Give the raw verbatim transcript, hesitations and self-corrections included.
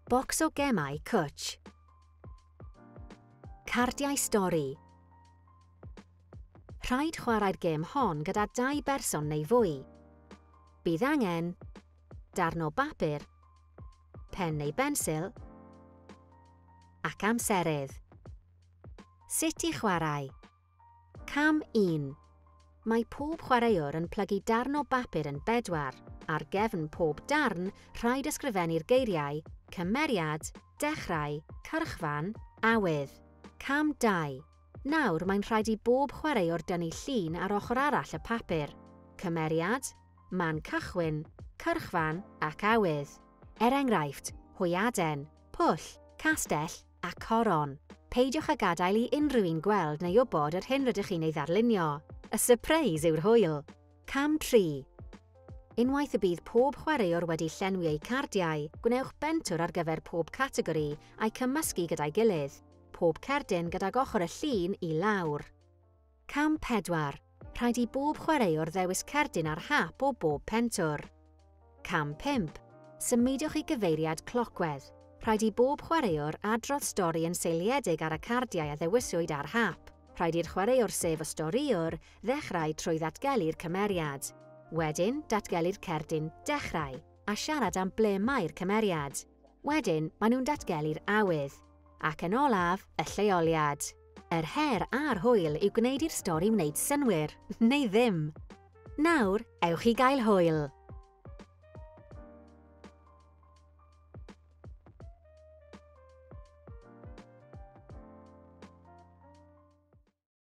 Bocs o gemau cwtch. Cardiau stori. Rhaid chwarae'r gêm hon gyda dau berson neu fwy. Bydd angen darn o bapur, pen neu bensil, ac amserydd. Sut i chwarae? Cam un. Mae pob chwaraewr yn plygu darn o bapur yn bedwar. Ar gefn pob darn, rhaid ysgrifennu'r geiriau cymeriad, dechrau, cyrchfan, awydd. Cam dau. Nawr mae'n rhaid i bob chwaraewr dynnu llun ar ochr arall y papur. Cymeriad, man cychwyn, cyrchfan ac awydd. Er enghraifft, hwyaden, pwll, castell a coron. Peidiwch â gadael i unrhyw un gweld neu wybod yr hyn rydych chi'n ei ddarlunio. Y sypreis yw'r hwyl. Cam tri. Unwaith y bydd pob chwaraewr wedi llenwi eu cardiau, gwnewch bentwr ar gyfer pob categori a'i cymysgu gyda'i gilydd. Pob cerdyn gydag ochr y llun i lawr. Cam pedwar. Rhaid i bob chwaraewr ddewis cerdyn ar hap o bob pentwr. Cam pump. Symudwch i gyfeiriad clocwedd. Rhaid i bob chwaraewr adrodd stori yn seiliedig ar y cardiau a ddewiswyd ar hap. Rhaid i'r chwaraewr sef y storïwr ddechrau trwy ddatgelu'r cymeriad. Wedyn, datgelu'r cerdyn dechrau a siarad am ble mae'r cymeriad. Wedyn, maen nhw'n datgelu'r awydd. Ac yn olaf, y lleoliad. Yr her a'r hwyl yw gwneud i'r stori wneud synnwyr, neu ddim. Nawr, ewch i gael hwyl!